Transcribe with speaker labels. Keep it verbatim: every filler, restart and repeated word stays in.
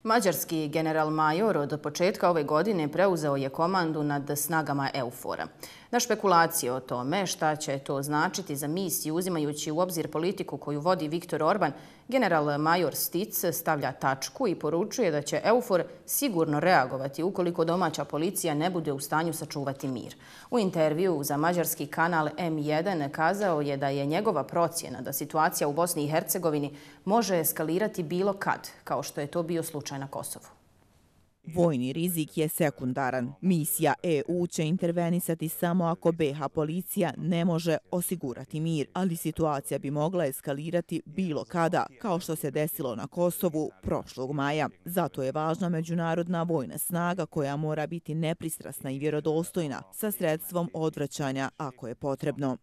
Speaker 1: Mađarski general-major od početka ove godine preuzeo je komandu nad snagama EUFOR-a. Na špekulacije o tome šta će to značiti za misiju, uzimajući u obzir politiku koju vodi Viktor Orban, general-major Stic stavlja tačku i poručuje da će EUFOR sigurno reagovati ukoliko domaća policija ne bude u stanju sačuvati mir. U intervju za mađarski kanal M jedan kazao je da je njegova procjena da situacija u Bosni i Hercegovini može eskalirati bilo kad, kao što je to bio slučaj na Kosovu.
Speaker 2: Vojni rizik je sekundaran. Misija E U će intervenisati samo ako B iH policija ne može osigurati mir, ali situacija bi mogla eskalirati bilo kada, kao što se desilo na Kosovu prošlog maja. Zato je važna međunarodna vojna snaga koja mora biti nepristrasna i vjerodostojna sa sredstvom odvraćanja ako je potrebno.